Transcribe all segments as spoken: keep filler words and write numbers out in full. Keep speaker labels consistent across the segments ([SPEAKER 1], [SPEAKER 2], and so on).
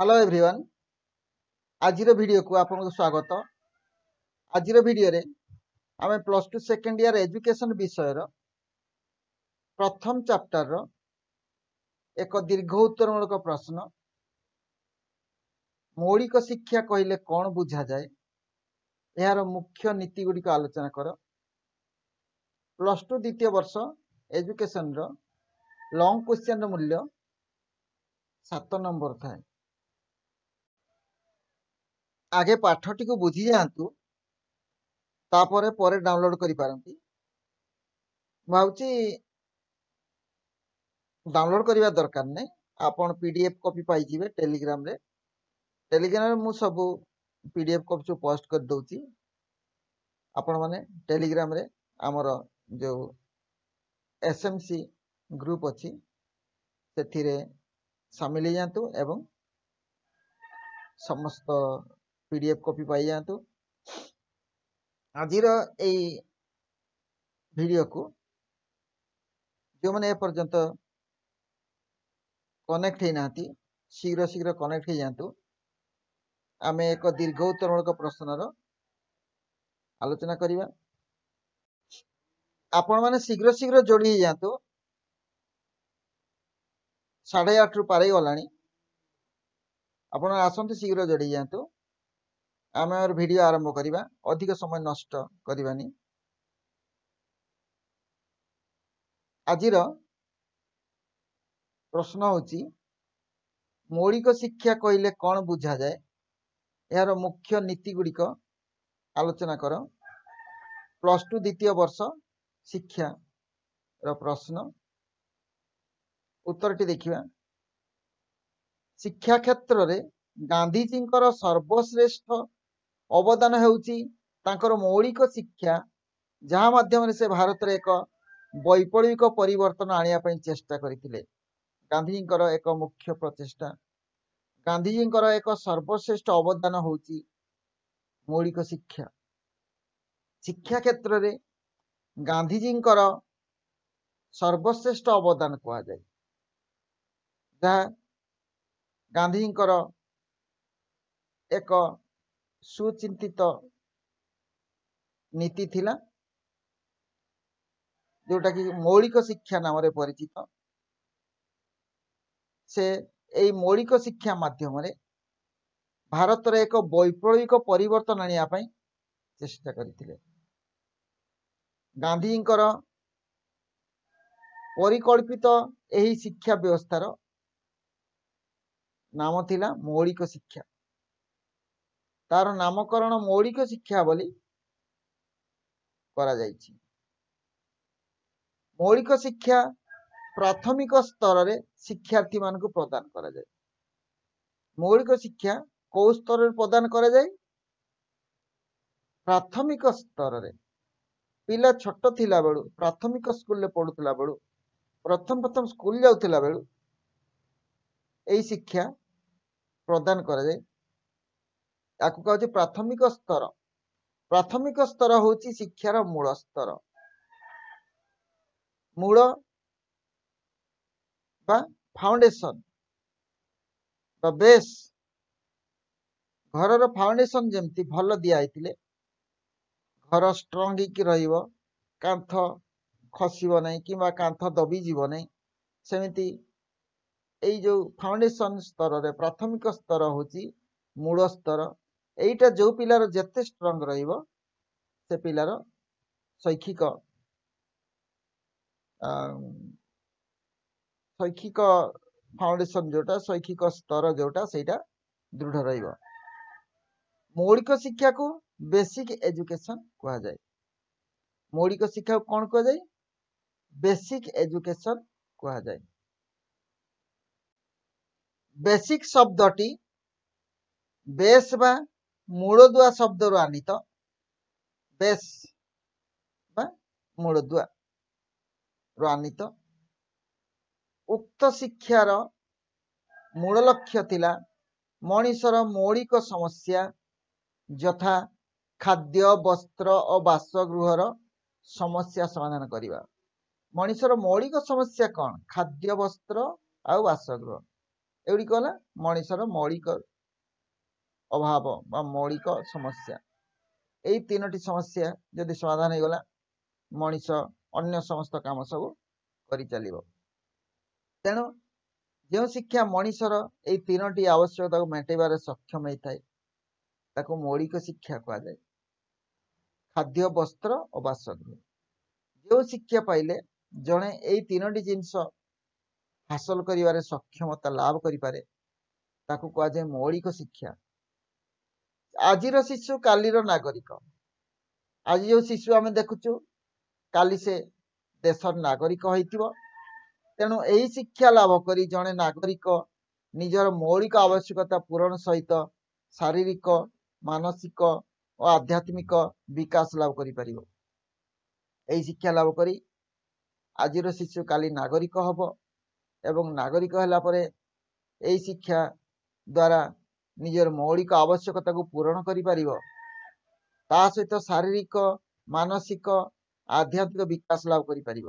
[SPEAKER 1] Hello everyone ଆଜିର ଭିଡ଼ିଓକୁ ଆପଣଙ୍କୁ ସ୍ୱାଗତ ଆଜିର ଭିଡ଼ିଓରେ ଆମେ plus two second year education ବିଷୟର ପ୍ରଥମ ଚାପ୍ଟରର ଏକ ଦୀର୍ଘ ଉତ୍ତରମୂଳକ ପ୍ରଶ୍ନ ମୌଳିକ ଶିକ୍ଷା କହିଲେ କ'ଣ ବୁଝାଯାଏ ଏହାର ମୁଖ୍ୟ ନୀତି ଗୁଡ଼ିକ ଆଲୋଚନା କର ପ୍ଲସ୍ ଟୁ ଦ୍ୱିତୀୟ ବର୍ଷ ଏଜୁକେସନର ଲଙ୍ଗ କ୍ୱେଶ୍ଚନର ମୂଲ୍ୟ ସାତ ନମ୍ବର ଥାଏ ଆଗେ ପାଠଟିକୁ ବୁଝି ଯାଆନ୍ତୁ ତାପରେ ପରେ ଡାଉନଲୋଡ୍ କରିପାରନ୍ତି ମୁଁ ଭାବୁଛି ଡାଉନଲୋଡ୍ କରିବା ଦରକାର ନାହିଁ ଆପଣ ପି ଡି ଏଫ୍ କପି ପାଇଯିବେ ଟେଲିଗ୍ରାମରେ ଟେଲିଗ୍ରାମରେ ମୁଁ ସବୁ ପି ଡି ଏଫ୍ କପି ସବୁ ପୋଷ୍ଟ କରିଦେଉଛି ଆପଣମାନେ ଟେଲିଗ୍ରାମରେ ଆମର ଯେଉଁ ଏସ୍ ଏମ୍ ସି ଗ୍ରୁପ୍ ଅଛି ସେଥିରେ ସାମିଲ ହେଇଯାଆନ୍ତୁ ଏବଂ ସମସ୍ତ ପି ଡି ଏଫ୍ କପି ପାଇଯାଆନ୍ତୁ ଆଜିର ଏଇ ଭିଡ଼ିଓକୁ ଯେଉଁମାନେ ଏପର୍ଯ୍ୟନ୍ତ କନେକ୍ଟ ହେଇନାହାନ୍ତି ଶୀଘ୍ର ଶୀଘ୍ର କନେକ୍ଟ ହେଇଯାଆନ୍ତୁ ଆମେ ଏକ ଦୀର୍ଘ ଉତ୍ତରମୂଳକ ପ୍ରଶ୍ନର ଆଲୋଚନା କରିବା ଆପଣମାନେ ଶୀଘ୍ର ଶୀଘ୍ର ଯୋଡ଼ି ହେଇଯାଆନ୍ତୁ ସାଢ଼େ ଆଠରୁ ପାରେଇ ଗଲାଣି ଆପଣ ଆସନ୍ତୁ ଶୀଘ୍ର ଯୋଡ଼ି ହେଇଯାଆନ୍ତୁ ଆମେ ଆମର ଭିଡ଼ିଓ ଆରମ୍ଭ କରିବା ଅଧିକ ସମୟ ନଷ୍ଟ କରିବାନି ଆଜିର ପ୍ରଶ୍ନ ହେଉଛି ମୌଳିକ ଶିକ୍ଷା କହିଲେ କ'ଣ ବୁଝାଯାଏ ଏହାର ମୁଖ୍ୟ ନୀତି ଗୁଡ଼ିକ ଆଲୋଚନା କର ପ୍ଲସ୍ ଟୁ ଦ୍ୱିତୀୟ ବର୍ଷ ଶିକ୍ଷାର ପ୍ରଶ୍ନ ଉତ୍ତରଟି ଦେଖିବା ଶିକ୍ଷା କ୍ଷେତ୍ରରେ ଗାନ୍ଧିଜୀଙ୍କର ସର୍ବଶ୍ରେଷ୍ଠ ଅବଦାନ ହେଉଛି ତାଙ୍କର ମୌଳିକ ଶିକ୍ଷା ଯାହା ମାଧ୍ୟମରେ ସେ ଭାରତରେ ଏକ ବୈପ୍ଳବିକ ପରିବର୍ତ୍ତନ ଆଣିବା ପାଇଁ ଚେଷ୍ଟା କରିଥିଲେ ଗାନ୍ଧିଜୀଙ୍କର ଏକ ମୁଖ୍ୟ ପ୍ରଚେଷ୍ଟା ଗାନ୍ଧିଜୀଙ୍କର ଏକ ସର୍ବଶ୍ରେଷ୍ଠ ଅବଦାନ ହେଉଛି ମୌଳିକ ଶିକ୍ଷା ଶିକ୍ଷା କ୍ଷେତ୍ରରେ ଗାନ୍ଧିଜୀଙ୍କର ସର୍ବଶ୍ରେଷ୍ଠ ଅବଦାନ କୁହାଯାଏ ଯାହା ଗାନ୍ଧୀଜୀଙ୍କର ଏକ ସୁଚିନ୍ତିତ ନୀତି ଥିଲା ଯୋଉଟାକି ମୌଳିକ ଶିକ୍ଷା ନାମରେ ପରିଚିତ ସେ ଏଇ ମୌଳିକ ଶିକ୍ଷା ମାଧ୍ୟମରେ ଭାରତରେ ଏକ ବୈପ୍ଳବିକ ପରିବର୍ତ୍ତନ ଆଣିବା ପାଇଁ ଚେଷ୍ଟା କରିଥିଲେ ଗାନ୍ଧୀଙ୍କର ପରିକଳ୍ପିତ ଏହି ଶିକ୍ଷା ବ୍ୟବସ୍ଥାର ନାମ ଥିଲା ମୌଳିକ ଶିକ୍ଷା ତାର ନାମକରଣ ମୌଳିକ ଶିକ୍ଷା ବୋଲି କରାଯାଇଛି ମୌଳିକ ଶିକ୍ଷା ପ୍ରାଥମିକ ସ୍ତରରେ ଶିକ୍ଷାର୍ଥୀମାନଙ୍କୁ ପ୍ରଦାନ କରାଯାଏ ମୌଳିକ ଶିକ୍ଷା କୋଉ ସ୍ତରରେ ପ୍ରଦାନ କରାଯାଏ ପ୍ରାଥମିକ ସ୍ତରରେ ପିଲା ଛୋଟ ଥିଲା ବେଳୁ ପ୍ରାଥମିକ ସ୍କୁଲରେ ପଢୁଥିଲା ବେଳୁ ପ୍ରଥମ ପ୍ରଥମ ସ୍କୁଲ ଯାଉଥିଲା ବେଳୁ ଏଇ ଶିକ୍ଷା ପ୍ରଦାନ କରାଯାଏ ତାକୁ କୁହାଯାଉଛି ପ୍ରାଥମିକ ସ୍ତର ପ୍ରାଥମିକ ସ୍ତର ହେଉଛି ଶିକ୍ଷାର ମୂଳ ସ୍ତର ମୂଳ ବା ଫାଉଣ୍ଡେସନ ବା ବେସ୍ ଘରର ଫାଉଣ୍ଡେସନ ଯେମିତି ଭଲ ଦିଆ ହେଇଥିଲେ ଘର ଷ୍ଟ୍ରଙ୍ଗ ହେଇକି ରହିବ କାନ୍ଥ ଖସିବ ନାହିଁ କିମ୍ବା କାନ୍ଥ ଦବିଯିବ ନାହିଁ ସେମିତି ଏଇ ଯୋଉ ଫାଉଣ୍ଡେସନ ସ୍ତରରେ ପ୍ରାଥମିକ ସ୍ତର ହେଉଛି ମୂଳ ସ୍ତର ଏଇଟା ଯୋଉ ପିଲାର ଯେତେ ଷ୍ଟ୍ରଙ୍ଗ ରହିବ ସେ ପିଲାର ଶୈକ୍ଷିକ ଶୈକ୍ଷିକ ଫାଉଣ୍ଡେସନ ଯୋଉଟା ଶୈକ୍ଷିକ ସ୍ତର ଯୋଉଟା ସେଇଟା ଦୃଢ ରହିବ ମୌଳିକ ଶିକ୍ଷାକୁ ବେସିକ ଏଜୁକେସନ କୁହାଯାଏ ମୌଳିକ ଶିକ୍ଷାକୁ କ'ଣ କୁହାଯାଏ ବେସିକ ଏଜୁକେସନ କୁହାଯାଏ ବେସିକ ଶବ୍ଦଟି ବେସ୍ ବା ମୂଳଦୁଆ ଶବ୍ଦରୁ ଆନିତ ବେସ୍ ବା ମୂଳଦୁଆ ରୁ ଆନିତ ଉକ୍ତ ଶିକ୍ଷାର ମୂଳ ଲକ୍ଷ୍ୟ ଥିଲା ମଣିଷର ମୌଳିକ ସମସ୍ୟା ଯଥା ଖାଦ୍ୟ ବସ୍ତ୍ର ଓ ବାସଗୃହର ସମସ୍ୟା ସମାଧାନ କରିବା ମଣିଷର ମୌଳିକ ସମସ୍ୟା କ'ଣ ଖାଦ୍ୟ ବସ୍ତ୍ର ଆଉ ବାସଗୃହ ଏଗୁଡ଼ିକ ହେଲା ମଣିଷର ମୌଳିକ ଅଭାବ ବା ମୌଳିକ ସମସ୍ୟା। ଏଇ ତିନୋଟି ସମସ୍ୟା ଯଦି ସମାଧାନ ହେଇଗଲା, ମଣିଷ ଅନ୍ୟ ସମସ୍ତ କାମ ସବୁ କରିଚାଲିବ। ତେଣୁ ଯେଉଁ ଶିକ୍ଷା ମଣିଷର ଏଇ ତିନୋଟି ଆବଶ୍ୟକତାକୁ ମେଣ୍ଟାଇବାରେ ସକ୍ଷମ ହେଇଥାଏ, ତାକୁ ମୌଳିକ ଶିକ୍ଷା କୁହାଯାଏ। ଖାଦ୍ୟ, ବସ୍ତ୍ର ଓ ବାସଗୃହ। ଯେଉଁ ଶିକ୍ଷା ପାଇଲେ ଜଣେ ଏଇ ତିନୋଟି ଜିନିଷ ହାସଲ କରିବାରେ ସକ୍ଷମତା ଲାଭ କରିପାରେ, ତାକୁ କୁହାଯାଏ ମୌଳିକ ଶିକ୍ଷା। ଆଜିର ଶିଶୁ କାଲିର ନାଗରିକ। ଆଜି ଯେଉଁ ଶିଶୁ ଆମେ ଦେଖୁଛୁ, କାଲି ସେ ଦେଶର ନାଗରିକ ହେଇଥିବ। ତେଣୁ ଏହି ଶିକ୍ଷା ଲାଭ କରି ଜଣେ ନାଗରିକ ନିଜର ମୌଳିକ ଆବଶ୍ୟକତା ପୂରଣ ସହିତ ଶାରୀରିକ, ମାନସିକ ଓ ଆଧ୍ୟାତ୍ମିକ ବିକାଶ ଲାଭ କରିପାରିବ। ଏହି ଶିକ୍ଷା ଲାଭ କରି ଆଜିର ଶିଶୁ କାଲି ନାଗରିକ ହବ ଏବଂ ନାଗରିକ ହେଲା ପରେ ଏହି ଶିକ୍ଷା ଦ୍ୱାରା ନିଜର ମୌଳିକ ଆବଶ୍ୟକତାକୁ ପୂରଣ କରିପାରିବ, ତା ସହିତ ଶାରୀରିକ, ମାନସିକ, ଆଧ୍ୟାତ୍ମିକ ବିକାଶ ଲାଭ କରିପାରିବ।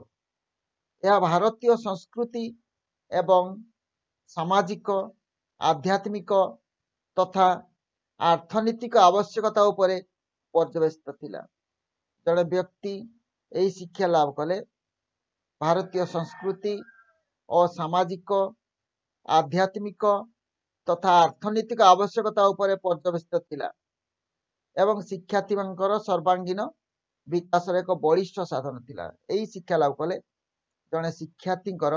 [SPEAKER 1] ଏହା ଭାରତୀୟ ସଂସ୍କୃତି ଏବଂ ସାମାଜିକ, ଆଧ୍ୟାତ୍ମିକ ତଥା ଅର୍ଥନୈତିକ ଆବଶ୍ୟକତା ଉପରେ ପର୍ଯ୍ୟବସିତ ଥିଲା। ଜଣେ ବ୍ୟକ୍ତି ଏହି ଶିକ୍ଷା ଲାଭ କଲେ ଭାରତୀୟ ସଂସ୍କୃତି ଓ ସାମାଜିକ, ଆଧ୍ୟାତ୍ମିକ ତଥା ଅର୍ଥନୈତିକ ଆବଶ୍ୟକତା ଉପରେ ପର୍ଯ୍ୟବସିତ ଥିଲା ଏବଂ ଶିକ୍ଷାର୍ଥୀମାନଙ୍କର ସର୍ବାଙ୍ଗୀନ ବିକାଶର ଏକ ବଳିଷ୍ଠ ସାଧନ ଥିଲା। ଏହି ଶିକ୍ଷା ଲାଭ କଲେ ଜଣେ ଶିକ୍ଷାର୍ଥୀଙ୍କର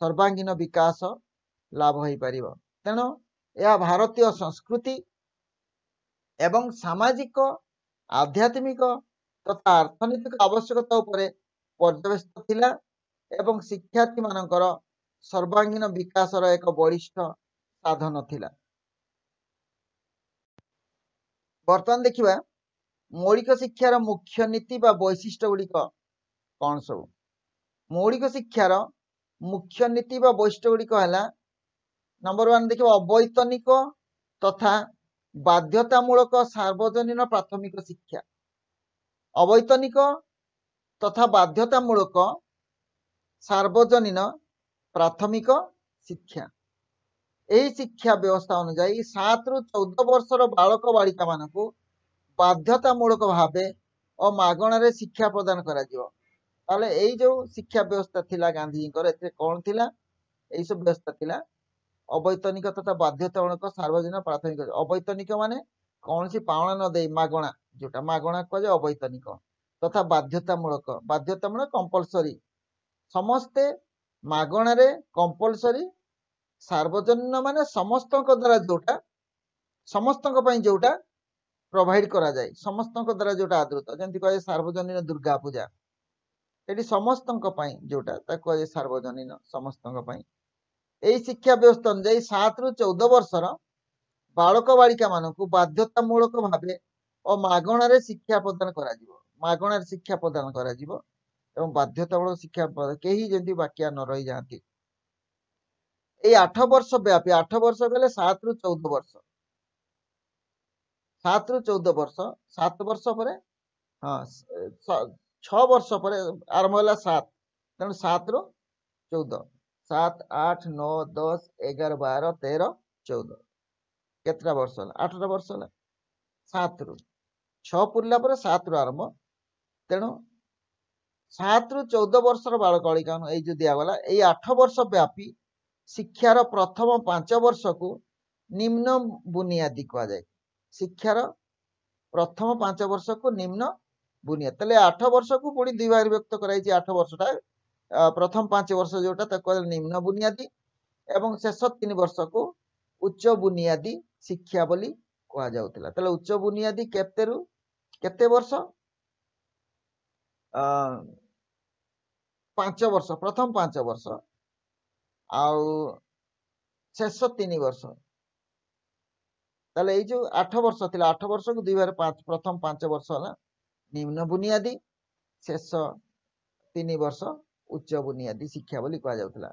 [SPEAKER 1] ସର୍ବାଙ୍ଗୀନ ବିକାଶ ଲାଭ ହୋଇପାରିବ। ତେଣୁ ଏହା ଭାରତୀୟ ସଂସ୍କୃତି ଏବଂ ସାମାଜିକ, ଆଧ୍ୟାତ୍ମିକ ତଥା ଅର୍ଥନୈତିକ ଆବଶ୍ୟକତା ଉପରେ ପର୍ଯ୍ୟବସିତ ଥିଲା ଏବଂ ଶିକ୍ଷାର୍ଥୀମାନଙ୍କର ସର୍ବାଙ୍ଗୀନ ବିକାଶର ଏକ ବଳିଷ୍ଠ ସାଧନ ଥିଲା। ବର୍ତ୍ତମାନ ଦେଖିବା ମୌଳିକ ଶିକ୍ଷାର ମୁଖ୍ୟ ନୀତି ବା ବୈଶିଷ୍ଟ୍ୟ ଗୁଡ଼ିକ କଣ ସବୁ। ମୌଳିକ ଶିକ୍ଷାର ମୁଖ୍ୟ ନୀତି ବା ବୈଶିଷ୍ଟ୍ୟ ଗୁଡ଼ିକ ହେଲା, ନମ୍ବର ୱାନ୍ ଦେଖିବା, ଅବୈତନିକ ତଥା ବାଧ୍ୟତାମୂଳକ ସାର୍ବଜନୀନ ପ୍ରାଥମିକ ଶିକ୍ଷା। ଅବୈତନିକ ତଥା ବାଧ୍ୟତାମୂଳକ ସାର୍ବଜନୀନ ପ୍ରାଥମିକ ଶିକ୍ଷା। ଏହି ଶିକ୍ଷା ବ୍ୟବସ୍ଥା ଅନୁଯାୟୀ ସାତରୁ ଚଉଦ ବର୍ଷର ବାଳକ ବାଳିକା ମାନଙ୍କୁ ବାଧ୍ୟତାମୂଳକ ଭାବେ ଓ ମାଗଣାରେ ଶିକ୍ଷା ପ୍ରଦାନ କରାଯିବ। ତାହେଲେ ଏଇ ଯୋଉ ଶିକ୍ଷା ବ୍ୟବସ୍ଥା ଥିଲା ଗାନ୍ଧୀଜୀଙ୍କର, ଏଥିରେ କଣ ଥିଲା? ଏଇ ସବୁ ବ୍ୟବସ୍ଥା ଥିଲା ଅବୈତନିକ ତଥା ବାଧ୍ୟତାମୂଳକ ସାର୍ବଜନୀନ ପ୍ରାଥମିକ। ଅବୈତନିକ ମାନେ କୌଣସି ପାଉଣା ନ ଦେଇ ମାଗଣା, ଯୋଉଟା ମାଗଣା କୁହାଯାଏ ଅବୈତନିକ, ତଥା ବାଧ୍ୟତାମୂଳକ। ବାଧ୍ୟତାମୂଳକ କମ୍ପଲସରି, ସମସ୍ତେ ମାଗଣାରେ କମ୍ପଲସରି। ସାର୍ବଜନୀନ ମାନେ ସମସ୍ତଙ୍କ ଦ୍ୱାରା ଯୋଉଟା, ସମସ୍ତଙ୍କ ପାଇଁ ଯୋଉଟା ପ୍ରୋଭାଇଡ କରାଯାଏ, ସମସ୍ତଙ୍କ ଦ୍ୱାରା ଯୋଉଟା ଆଦୃତ। ଯେମିତି କୁହାଯାଏ ସାର୍ବଜନୀନ ଦୁର୍ଗା ପୂଜା, ଏଠି ସମସ୍ତଙ୍କ ପାଇଁ ଯୋଉଟା ତାକୁ କୁହାଯାଏ ସାର୍ବଜନୀନ, ସମସ୍ତଙ୍କ ପାଇଁ। ଏଇ ଶିକ୍ଷା ବ୍ୟବସ୍ଥା ଅନୁଯାୟୀ ସାତରୁ ଚଉଦ ବର୍ଷର ବାଳକ ବାଳିକା ମାନଙ୍କୁ ବାଧ୍ୟତାମୂଳକ ଭାବେ ଓ ମାଗଣାରେ ଶିକ୍ଷା ପ୍ରଦାନ କରାଯିବ। ମାଗଣାରେ ଶିକ୍ଷା ପ୍ରଦାନ କରାଯିବ ଏବଂ ବାଧ୍ୟତାମୂଳକ ଶିକ୍ଷା, କେହି ଯେମିତି ବାକିଆ ନ ରହିଯାଆନ୍ତି। ଏଇ ଆଠ ବର୍ଷ ବ୍ୟାପୀ, ଆଠ ବର୍ଷ କହିଲେ ସାତରୁ ଚଉଦ ବର୍ଷ, ସାତରୁ ଚଉଦ ବର୍ଷ, ସାତ ବର୍ଷ ପରେ, ହଁ, ଛଅ ବର୍ଷ ପରେ ଆରମ୍ଭ ହେଲା ସାତ, ତେଣୁ ସାତରୁ ଚଉଦ, ସାତ, ଆଠ, ନଅ, ଦଶ, ଏଗାର, ବାର, ତେର, ଚଉଦ, କେତେଟା ବର୍ଷ ହେଲା? ଆଠଟା ବର୍ଷ ହେଲା। ସାତରୁ ଛଅ ପୁରିଲା ପରେ ସାତରୁ ଆରମ୍ଭ। ତେଣୁ ସାତରୁ ଚଉଦ ବର୍ଷର ବାଳକ ବାଳିକା ଏଇ ଯୋଉ ଦିଆଗଲା, ଏଇ ଆଠ ବର୍ଷ ବ୍ୟାପୀ ଶିକ୍ଷାର ପ୍ରଥମ ପାଞ୍ଚ ବର୍ଷକୁ ନିମ୍ନ ବୁନିଆଦି କୁହାଯାଏ। ଶିକ୍ଷାର ପ୍ରଥମ ପାଞ୍ଚ ବର୍ଷକୁ ନିମ୍ନ ବୁନିଆଦି। ତାହେଲେ ଆଠ ବର୍ଷକୁ ପୁଣି ଦୁଇ ଭାଗରେ ବିଭକ୍ତ କରାଯାଇଛି। ଆଠ ବର୍ଷଟା ପ୍ରଥମ ପାଞ୍ଚ ବର୍ଷ ଯୋଉଟା ତାକୁ କୁହାଯାଏ ନିମ୍ନ ବୁନିଆଦି ଏବଂ ଶେଷ ତିନି ବର୍ଷକୁ ଉଚ୍ଚ ବୁନିଆଦି ଶିକ୍ଷା ବୋଲି କୁହାଯାଉଥିଲା। ତାହେଲେ ଉଚ୍ଚ ବୁନିଆଦି କେତେରୁ କେତେ ବର୍ଷ? ଅ ପାଞ୍ଚ ବର୍ଷ, ପ୍ରଥମ ପାଞ୍ଚ ବର୍ଷ ଆଉ ଶେଷ ତିନି ବର୍ଷ। ତାହେଲେ ଏଇ ଯୋଉ ଆଠ ବର୍ଷ ଥିଲା, ଆଠ ବର୍ଷକୁ ଦୁଇ ଭାଗରେ ପାଞ୍ଚ, ପ୍ରଥମ ପାଞ୍ଚ ବର୍ଷ ହେଲା ନିମ୍ନ ବୁନିଆଦି, ଶେଷ ତିନି ବର୍ଷ ଉଚ୍ଚ ବୁନିଆଦି ଶିକ୍ଷା ବୋଲି କୁହାଯାଉଥିଲା।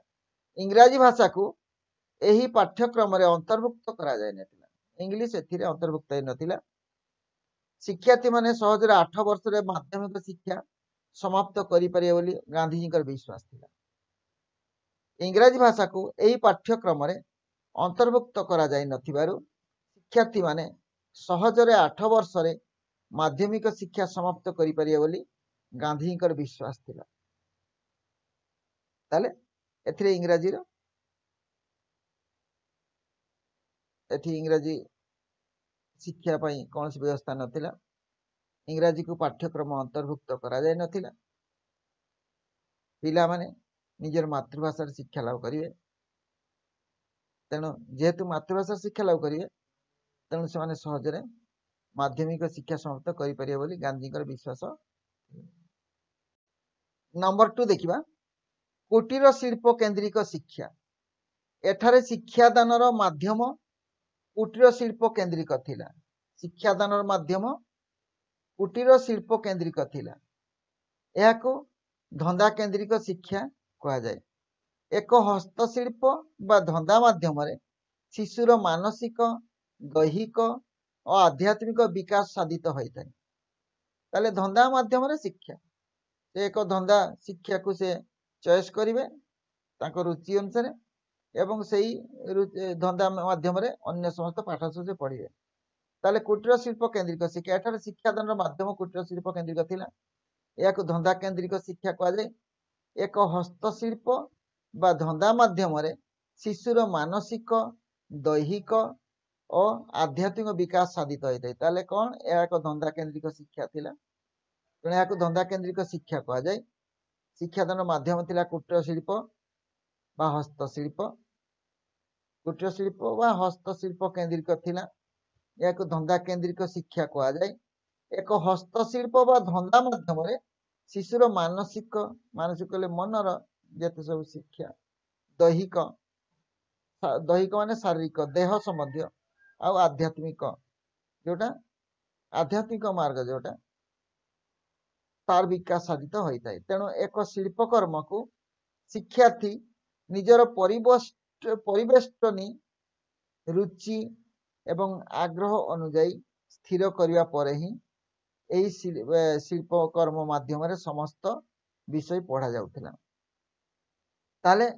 [SPEAKER 1] ଇଂରାଜୀ ଭାଷାକୁ ଏହି ପାଠ୍ୟକ୍ରମରେ ଅନ୍ତର୍ଭୁକ୍ତ କରାଯାଇନଥିଲା। ଇଂଲିଶ ଏଥିରେ ଅନ୍ତର୍ଭୁକ୍ତ ହେଇନଥିଲା। ଶିକ୍ଷାର୍ଥୀମାନେ ସହଜରେ ଆଠ ବର୍ଷରେ ମାଧ୍ୟମିକ ଶିକ୍ଷା ସମାପ୍ତ କରିପାରିବେ ବୋଲି ଗାନ୍ଧୀଜୀଙ୍କର ବିଶ୍ୱାସ ଥିଲା। ଇଂରାଜୀ ଭାଷାକୁ ଏହି ପାଠ୍ୟକ୍ରମରେ ଅନ୍ତର୍ଭୁକ୍ତ କରାଯାଇ ନଥିବାରୁ ଶିକ୍ଷାର୍ଥୀମାନେ ସହଜରେ ଆଠ ବର୍ଷରେ ମାଧ୍ୟମିକ ଶିକ୍ଷା ସମାପ୍ତ କରିପାରିବେ ବୋଲି ଗାନ୍ଧୀଙ୍କର ବିଶ୍ୱାସ ଥିଲା। ତାହେଲେ ଏଥିରେ ଇଂରାଜୀର ଏଠି ଇଂରାଜୀ ଶିକ୍ଷା ପାଇଁ କୌଣସି ବ୍ୟବସ୍ଥା ନଥିଲା, ଇଂରାଜୀକୁ ପାଠ୍ୟକ୍ରମ ଅନ୍ତର୍ଭୁକ୍ତ କରାଯାଇ ନଥିଲା। ପିଲାମାନେ ନିଜର ମାତୃଭାଷାରେ ଶିକ୍ଷା ଲାଭ କରିବେ, ତେଣୁ ଯେହେତୁ ମାତୃଭାଷା ଶିକ୍ଷା ଲାଭ କରିବେ ତେଣୁ ସେମାନେ ସହଜରେ ମାଧ୍ୟମିକ ଶିକ୍ଷା ସମାପ୍ତ କରିପାରିବେ ବୋଲି ଗାନ୍ଧୀଙ୍କର ବିଶ୍ୱାସ। ନମ୍ବର ଟୁ ଦେଖିବା, କୁଟୀର ଶିଳ୍ପ କେନ୍ଦ୍ରିକ ଶିକ୍ଷା। ଏଠାରେ ଶିକ୍ଷାଦାନର ମାଧ୍ୟମ କୁଟୀର ଶିଳ୍ପ କେନ୍ଦ୍ରିକ ଥିଲା। ଶିକ୍ଷାଦାନର ମାଧ୍ୟମ କୁଟୀର ଶିଳ୍ପ କେନ୍ଦ୍ରିକ ଥିଲା। ଏହାକୁ ଧନ୍ଦା କେନ୍ଦ୍ରିକ ଶିକ୍ଷା କୁହାଯାଏ। ଏକ ହସ୍ତଶିଳ୍ପ ବା ଧନ୍ଦା ମାଧ୍ୟମରେ ଶିଶୁର ମାନସିକ, ଦୈହିକ ଓ ଆଧ୍ୟାତ୍ମିକ ବିକାଶ ସାଧିତ ହୋଇଥାଏ। ତାହେଲେ ଧନ୍ଦା ମାଧ୍ୟମରେ ଶିକ୍ଷା, ସେ ଏକ ଧନ୍ଦା ଶିକ୍ଷାକୁ ସେ ଚଏସ୍ କରିବେ ତାଙ୍କ ରୁଚି ଅନୁସାରେ ଏବଂ ସେଇ ଧନ୍ଦା ମାଧ୍ୟମରେ ଅନ୍ୟ ସମସ୍ତ ପାଠ ସବୁ ସେ ପଢ଼ିବେ। ତାହେଲେ କୁଟୀର ଶିଳ୍ପ କେନ୍ଦ୍ରିକ ଶିକ୍ଷା, ଏଠାରେ ଶିକ୍ଷାଦାନର ମାଧ୍ୟମ କୁଟୀର ଶିଳ୍ପ କେନ୍ଦ୍ରିକ ଥିଲା। ଏହାକୁ ଧନ୍ଦା କେନ୍ଦ୍ରିକ ଶିକ୍ଷା କୁହାଯାଏ। ଏକ ହସ୍ତଶିଳ୍ପ ବା ଧନ୍ଦା ମାଧ୍ୟମରେ ଶିଶୁର ମାନସିକ, ଦୈହିକ ଓ ଆଧ୍ୟାତ୍ମିକ ବିକାଶ ସାଧିତ ହୋଇଥାଏ। ତାହେଲେ କ'ଣ? ଏହା ଏକ ଧନ୍ଦା କେନ୍ଦ୍ରିକ ଶିକ୍ଷା ଥିଲା, ତେଣୁ ଏହାକୁ ଧନ୍ଦା କେନ୍ଦ୍ରିକ ଶିକ୍ଷା କୁହାଯାଏ। ଶିକ୍ଷାଦାନ ମାଧ୍ୟମ ଥିଲା କୁଟୀର ଶିଳ୍ପ ବା ହସ୍ତଶିଳ୍ପ। କୁଟୀର ଶିଳ୍ପ ବା ହସ୍ତଶିଳ୍ପ କେନ୍ଦ୍ରିକ ଥିଲା, ଏହାକୁ ଧନ୍ଦା କେନ୍ଦ୍ରିକ ଶିକ୍ଷା କୁହାଯାଏ। ଏକ ହସ୍ତଶିଳ୍ପ ବା ଧନ୍ଦା ମାଧ୍ୟମରେ ଶିଶୁର ମାନସିକ, ମାନସିକ ହେଲେ ମନର ଯେତେ ସବୁ ଶିକ୍ଷା, ଦୈହିକ, ଦୈହିକ ମାନେ ଶାରୀରିକ, ଦେହ ସମ୍ବନ୍ଧୀୟ, ଆଉ ଆଧ୍ୟାତ୍ମିକ ଯୋଉଟା ଆଧ୍ୟାତ୍ମିକ ମାର୍ଗ ଯୋଉଟା ତାର ବିକାଶ ସାଧିତ ହୋଇଥାଏ। ତେଣୁ ଏକ ଶିଳ୍ପକର୍ମକୁ ଶିକ୍ଷାର୍ଥୀ ନିଜର ପରିବେଷ୍ଟନୀ ରୁଚି ଏବଂ ଆଗ୍ରହ ଅନୁଯାୟୀ ସ୍ଥିର କରିବା ପରେ ହିଁ ଏହି ଶିଳ୍ପକର୍ମ ମାଧ୍ୟମରେ ସମସ୍ତ ବିଷୟ ପଢ଼ା ଯାଉଥିଲା। ତାହେଲେ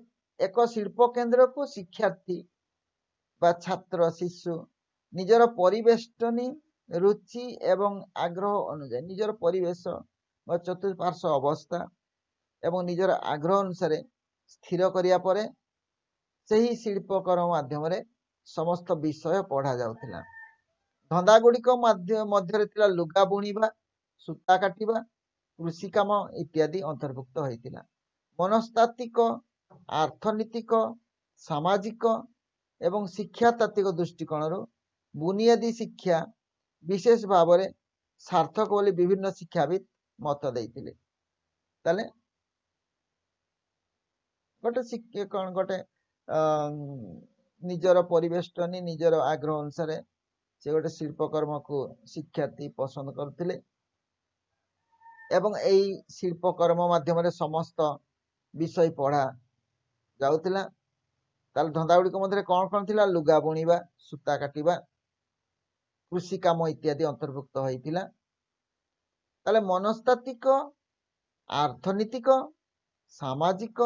[SPEAKER 1] ଏକ ଶିଳ୍ପ କେନ୍ଦ୍ରକୁ ଶିକ୍ଷାର୍ଥୀ ବା ଛାତ୍ର ଶିଶୁ ନିଜର ପରିବେଷ୍ଟନୀ ରୁଚି ଏବଂ ଆଗ୍ରହ ଅନୁଯାୟୀ ନିଜର ପରିବେଶ ବା ଚତୁଃପାର୍ଶ୍ୱ ଅବସ୍ଥା ଏବଂ ନିଜର ଆଗ୍ରହ ଅନୁସାରେ ସ୍ଥିର କରିବା ପରେ ସେହି ଶିଳ୍ପକର୍ମ ମାଧ୍ୟମରେ ସମସ୍ତ ବିଷୟ ପଢ଼ା ଯାଉଥିଲା। ଧନ୍ଦା ଗୁଡ଼ିକ ମଧ୍ୟରେ ଥିଲା ଲୁଗା ବୁଣିବା, ସୂତା କାଟିବା, କୃଷି କାମ ଇତ୍ୟାଦି ଅନ୍ତର୍ଭୁକ୍ତ ହୋଇଥିଲା। ମନସ୍ତାତ୍ତ୍ୱିକ, ଅର୍ଥନୀତିକ, ସାମାଜିକ ଏବଂ ଶିକ୍ଷାତାତ୍ତ୍ୱିକ ଦୃଷ୍ଟିକୋଣରୁ ବୁନିଆଦୀ ଶିକ୍ଷା ବିଶେଷ ଭାବରେ ସାର୍ଥକ ବୋଲି ବିଭିନ୍ନ ଶିକ୍ଷାବିତ୍ ମତ ଦେଇଥିଲେ। ତାହେଲେ ଗୋଟେ ଶିକ୍ଷା କ'ଣ, ଗୋଟେ ନିଜର ପରିବେଷ୍ଟନୀ ନିଜର ଆଗ୍ରହ ଅନୁସାରେ ସେ ଗୋଟେ ଶିଳ୍ପକର୍ମକୁ ଶିକ୍ଷାର୍ଥୀ ପସନ୍ଦ କରୁଥିଲେ ଏବଂ ଏଇ ଶିଳ୍ପକର୍ମ ମାଧ୍ୟମରେ ସମସ୍ତ ବିଷୟ ପଢ଼ା ଯାଉଥିଲା। ତାହେଲେ ଧନ୍ଦା ଗୁଡ଼ିକ ମଧ୍ୟରେ କ'ଣ କ'ଣ ଥିଲା? ଲୁଗା ବୁଣିବା, ସୂତା କାଟିବା, କୃଷି କାମ ଇତ୍ୟାଦି ଅନ୍ତର୍ଭୁକ୍ତ ହୋଇଥିଲା। ତାହେଲେ ମନସ୍ତାତ୍ତ୍ୱିକ, ଅର୍ଥନୀତିକ, ସାମାଜିକ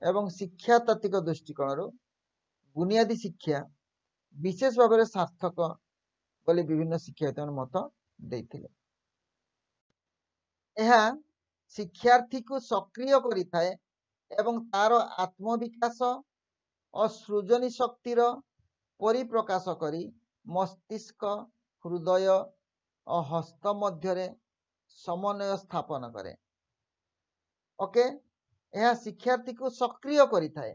[SPEAKER 1] ଏବଂ ଶିକ୍ଷାତାତ୍ତ୍ୱିକ ଦୃଷ୍ଟିକୋଣରୁ ବୁନିଆଦୀ ଶିକ୍ଷା ବିଶେଷ ଭାବରେ ସାର୍ଥକ ବୋଲି ବିଭିନ୍ନ ଶିକ୍ଷାବିତମାନେ ମତ ଦେଇଥିଲେ। ଏହା ଶିକ୍ଷାର୍ଥୀକୁ ସକ୍ରିୟ କରିଥାଏ ଏବଂ ତାର ଆତ୍ମବିକାଶ ଓ ସୃଜନୀ ଶକ୍ତିର ପରିପ୍ରକାଶ କରି ମସ୍ତିଷ୍କ, ହୃଦୟ ଓ ହସ୍ତ ମଧ୍ୟରେ ସମନ୍ୱୟ ସ୍ଥାପନ କରେ। ଓକେ, ଏହା ଶିକ୍ଷାର୍ଥୀକୁ ସକ୍ରିୟ କରିଥାଏ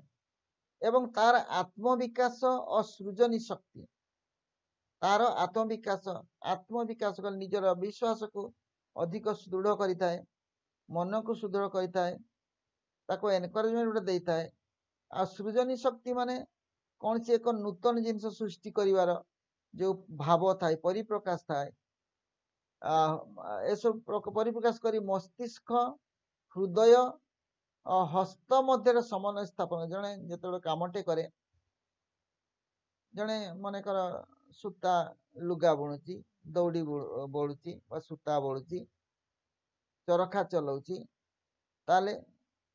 [SPEAKER 1] ଏବଂ ତାର ଆତ୍ମବିକାଶ ଓ ସୃଜନୀ ଶକ୍ତି, ତାର ଆତ୍ମବିକାଶ ଆତ୍ମବିକାଶ କଲେ ନିଜର ବିଶ୍ୱାସକୁ ଅଧିକ ସୁଦୃଢ଼ କରିଥାଏ, ମନକୁ ସୁଦୃଢ଼ କରିଥାଏ, ତାକୁ ଏନକରେଜମେଣ୍ଟ ଗୋଟେ ଦେଇଥାଏ। ଆଉ ସୃଜନୀ ଶକ୍ତି ମାନେ କୌଣସି ଏକ ନୂତନ ଜିନିଷ ସୃଷ୍ଟି କରିବାର ଯେଉଁ ଭାବ ଥାଏ, ପରିପ୍ରକାଶ ଥାଏ, ଏସବୁ ପରିପ୍ରକାଶ କରି ମସ୍ତିଷ୍କ, ହୃଦୟ, ହସ୍ତ ମଧ୍ୟରେ ସମନ୍ୱୟ ସ୍ଥାପନ। ଜଣେ ଯେତେବେଳେ କାମଟେ କରେ, ଜଣେ ମନେକର ସୂତା ଲୁଗା ବୁଣୁଛି, ଦଉଡ଼ି ବଳୁଛି ବା ସୂତା ବଳୁଛି, ଚରଖା ଚଲାଉଛି, ତାହେଲେ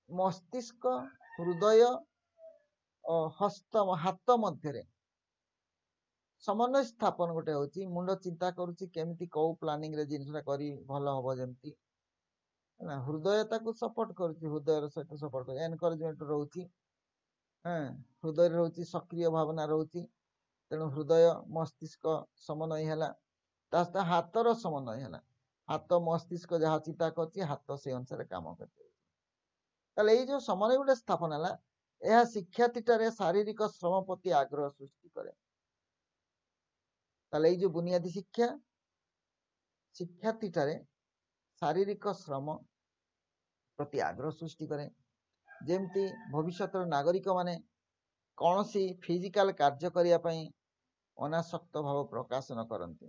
[SPEAKER 1] ମସ୍ତିଷ୍କ, ହୃଦୟ ଓ ହସ୍ତ ହାତ ମଧ୍ୟରେ ସମନ୍ୱୟ ସ୍ଥାପନ ଗୋଟେ ହଉଛି। ମୁଣ୍ଡ ଚିନ୍ତା କରୁଛି କେମିତି କୋଉ ପ୍ଲାନିଂରେ ଜିନିଷଟା କରି ଭଲ ହବ ଯେମିତି, ହେଲା। ହୃଦୟ ତାକୁ ସପୋର୍ଟ କରୁଛି, ହୃଦୟର ସହିତ ସପୋର୍ଟ କରୁଛି, ଏନକରେଜମେଣ୍ଟ ରହୁଛି। ହଁ, ହୃଦୟରେ ରହୁଛି ସକ୍ରିୟ ଭାବନା ରହୁଛି। ତେଣୁ ହୃଦୟ ମସ୍ତିଷ୍କ ସମନ୍ୱୟ ହେଲା, ତା ସହିତ ହାତର ସମନ୍ୱୟ ହେଲା। ହାତ ମସ୍ତିଷ୍କ ଯାହା ଚିନ୍ତା କରୁଛି, ହାତ ସେଇ ଅନୁସାରେ କାମ କରୁଛି। ତାହେଲେ ଏଇ ଯୋଉ ସମନ୍ୱୟ ଗୋଟେ ସ୍ଥାପନ ହେଲା, ଏହା ଶିକ୍ଷାର୍ଥୀଠାରେ ଶାରୀରିକ ଶ୍ରମ ପ୍ରତି ଆଗ୍ରହ ସୃଷ୍ଟି କରେ। ତାହେଲେ ଏଇ ଯୋଉ ବୁନିୟାଦୀ ଶିକ୍ଷା ଶିକ୍ଷାର୍ଥୀଠାରେ ଶାରୀରିକ ଶ୍ରମ ପ୍ରତି ଆଗ୍ରହ ସୃଷ୍ଟି କରେ, ଯେମିତି ଭବିଷ୍ୟତର ନାଗରିକମାନେ କୌଣସି ଫିଜିକାଲ କାର୍ଯ୍ୟ କରିବା ପାଇଁ ଅନାସକ୍ତ ଭାବ ପ୍ରକାଶ ନ କରନ୍ତି।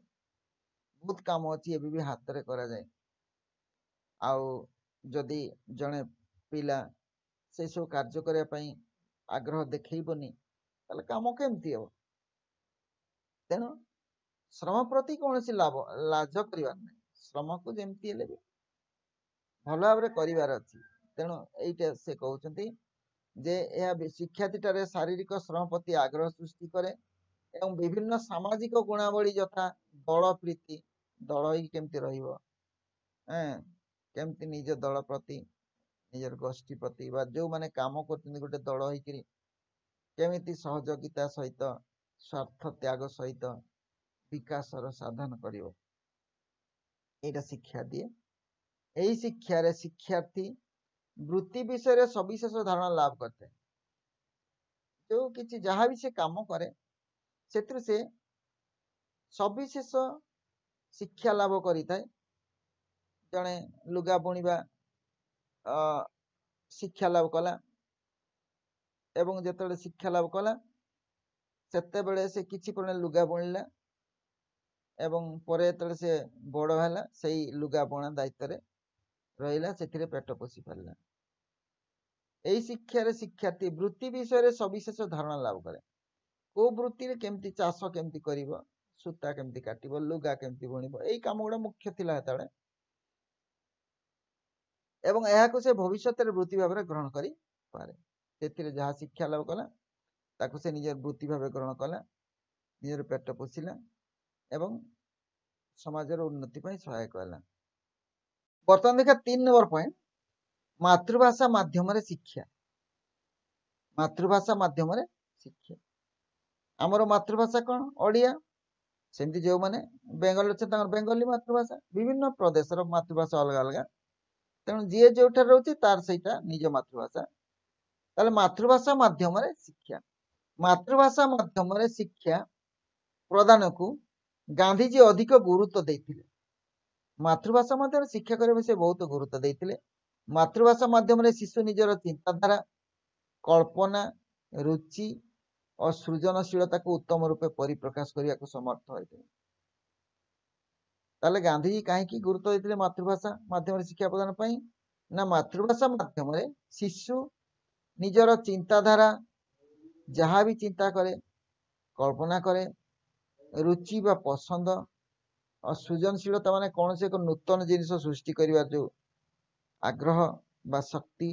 [SPEAKER 1] ବହୁତ କାମ ଅଛି ଏବେ ବି ହାତରେ କରାଯାଏ। ଆଉ ଯଦି ଜଣେ ପିଲା ସେସବୁ କାର୍ଯ୍ୟ କରିବା ପାଇଁ ଆଗ୍ରହ ଦେଖେଇବନି, ତାହେଲେ କାମ କେମିତି ହେବ? ତେଣୁ ଶ୍ରମ ପ୍ରତି କୌଣସି ଲାଭ ଲାଜ କରିବାର ନାହିଁ। ଶ୍ରମକୁ ଯେମିତି ହେଲେ ବି ଭଲ ଭାବରେ କରିବାର ଅଛି। ତେଣୁ ଏଇଟା ସେ କହୁଛନ୍ତି ଯେ ଏହା ଶିକ୍ଷାର୍ଥୀଠାରେ ଶାରୀରିକ ଶ୍ରମ ପ୍ରତି ଆଗ୍ରହ ସୃଷ୍ଟି କରେ ଏବଂ ବିଭିନ୍ନ ସାମାଜିକ ଗୁଣାବଳୀ ଯଥା ଦଳ ପ୍ରୀତି, ଦଳ ହେଇକି କେମିତି ରହିବ, ଏଁ କେମିତି ନିଜ ଦଳ ପ୍ରତି, ନିଜର ଗୋଷ୍ଠୀ ପ୍ରତି ବା ଯୋଉମାନେ କାମ କରୁଛନ୍ତି ଗୋଟେ ଦଳ ହେଇକିରି କେମିତି ସହଯୋଗିତା ସହିତ ସ୍ୱାର୍ଥ ତ୍ୟାଗ ସହିତ ବିକାଶର ସାଧନ କରିବ, ଏଇଟା ଶିକ୍ଷା ଦିଏ। ଏହି ଶିକ୍ଷାରେ ଶିକ୍ଷାର୍ଥୀ ବୃତ୍ତି ବିଷୟରେ ସବିଶେଷ ଧାରଣା ଲାଭ କରିଥାଏ। ଯୋଉ କିଛି ଯାହା ବି ସେ କାମ କରେ, ସେଥିରୁ ସେ ସବିଶେଷ ଶିକ୍ଷା ଲାଭ କରିଥାଏ। ଜଣେ ଲୁଗା ବୁଣିବା ଶିକ୍ଷା ଲାଭ କଲା ଏବଂ ଯେତେବେଳେ ଶିକ୍ଷା ଲାଭ କଲା, ସେତେବେଳେ ସେ କିଛି ପରିମାଣ ଲୁଗା ବୁଣିଲା ଏବଂ ପରେ ଯେତେବେଳେ ସେ ବଡ଼ ହେଲା, ସେଇ ଲୁଗା ବୁଣା ଦାୟିତ୍ୱରେ ରହିଲା, ସେଥିରେ ପେଟ ପୋଷି ପାରିଲା। ଏଇ ଶିକ୍ଷାରେ ଶିକ୍ଷାର୍ଥୀ ବୃତ୍ତି ବିଷୟରେ ସବିଶେଷ ଧାରଣା ଲାଭ କରେ। କୋଉ ବୃତ୍ତିରେ କେମିତି ଚାଷ କେମିତି କରିବ, ସୂତା କେମିତି କାଟିବ, ଲୁଗା କେମିତି ବୁଣିବ, ଏଇ କାମ ଗୁଡ଼ା ମୁଖ୍ୟ ଥିଲା ସେତେବେଳେ ଏବଂ ଏହାକୁ ସେ ଭବିଷ୍ୟତରେ ବୃତ୍ତି ଭାବରେ ଗ୍ରହଣ କରିପାରେ। ସେଥିରେ ଯାହା ଶିକ୍ଷା ଲାଭ କଲା, ତାକୁ ସେ ନିଜର ବୃତ୍ତି ଭାବେ ଗ୍ରହଣ କଲା, ନିଜର ପେଟ ପୋଷିଲା ଏବଂ ସମାଜର ଉନ୍ନତି ପାଇଁ ସହାୟକ ହେଲା। ବର୍ତ୍ତମାନ ଦେଖିବା ତିନି ନମ୍ବର ପଏଣ୍ଟ, ମାତୃଭାଷା ମାଧ୍ୟମରେ ଶିକ୍ଷା। ମାତୃଭାଷା ମାଧ୍ୟମରେ ଶିକ୍ଷା। ଆମର ମାତୃଭାଷା କଣ? ଓଡ଼ିଆ। ସେମିତି ଯୋଉମାନେ ବେଙ୍ଗଲ ଅଛନ୍ତି, ତାଙ୍କର ବେଙ୍ଗଲୀ ମାତୃଭାଷା। ବିଭିନ୍ନ ପ୍ରଦେଶର ମାତୃଭାଷା ଅଲଗା ଅଲଗା। ତେଣୁ ଯିଏ ଯୋଉଠାରେ ରହୁଛି, ତାର ସେଇଟା ନିଜ ମାତୃଭାଷା। ତାହେଲେ ମାତୃଭାଷା ମାଧ୍ୟମରେ ଶିକ୍ଷା, ମାତୃଭାଷା ମାଧ୍ୟମରେ ଶିକ୍ଷା ପ୍ରଦାନକୁ ଗାନ୍ଧିଜୀ ଅଧିକ ଗୁରୁତ୍ୱ ଦେଇଥିଲେ। ମାତୃଭାଷା ମାଧ୍ୟମରେ ଶିକ୍ଷା କରିବା ସେ ବହୁତ ଗୁରୁତ୍ୱ ଦେଇଥିଲେ। ମାତୃଭାଷା ମାଧ୍ୟମରେ ଶିଶୁ ନିଜର ଚିନ୍ତାଧାରା, କଳ୍ପନା, ରୁଚି ଓ ସୃଜନଶୀଳତାକୁ ଉତ୍ତମ ରୂପେ ପରିପ୍ରକାଶ କରିବାକୁ ସମର୍ଥ ହୋଇଥିଲେ। ତାହେଲେ ଗାନ୍ଧିଜୀ କାହିଁକି ଗୁରୁତ୍ୱ ଦେଇଥିଲେ ମାତୃଭାଷା ମାଧ୍ୟମରେ ଶିକ୍ଷା ପ୍ରଦାନ ପାଇଁ? ନା, ମାତୃଭାଷା ମାଧ୍ୟମରେ ଶିଶୁ ନିଜର ଚିନ୍ତାଧାରା, ଯାହା ବି ଚିନ୍ତା କରେ, କଳ୍ପନା କରେ, ରୁଚି ବା ପସନ୍ଦ ଓ ସୃଜନଶୀଳତା, ମାନେ କୌଣସି ଏକ ନୂତନ ଜିନିଷ ସୃଷ୍ଟି କରିବାର ଯୋଉ ଆଗ୍ରହ ବା ଶକ୍ତି,